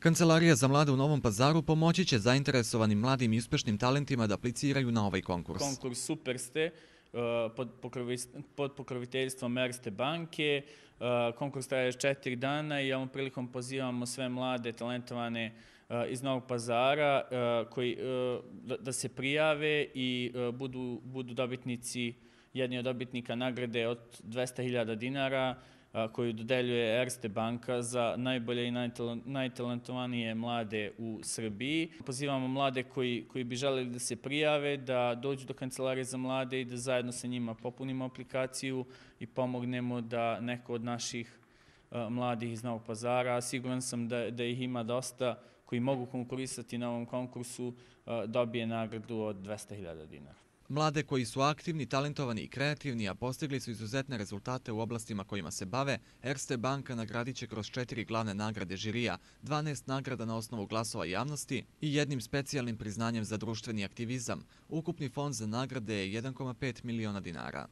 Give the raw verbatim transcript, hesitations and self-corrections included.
Kancelarija za mlade u Novom Pazaru pomoći će zainteresovanim mladim i uspešnim talentima da apliciraju na ovaj konkurs. Konkurs Super ste pod pokroviteljstvom Erste banke. Konkurs traje četiri dana i ovom prilikom pozivamo sve mlade, talentovane iz Novog Pazara da se prijave i budu dobitnici, jedni od dobitnika nagrade od dvesta hiljada dinara koju dodeljuje Erste banka za najbolje i najtalentovanije mlade u Srbiji. Pozivamo mlade koji bi želeli da se prijave, da dođu do Kancelarije za mlade i da zajedno sa njima popunimo aplikaciju i pomognemo da neko od naših mladih iz Novog Pazara, siguran sam da ih ima dosta koji mogu konkurisati na ovom konkursu, dobije nagradu od dvesta hiljada dinara. Mlade koji su aktivni, talentovani i kreativni, a postigli su izuzetne rezultate u oblastima kojima se bave, Erste banka nagradit će kroz četiri glavne nagrade žirija, dvanaest nagrada na osnovu glasova javnosti i jednim specijalnim priznanjem za društveni aktivizam. Ukupni fond za nagrade je jedan zarez pet miliona dinara.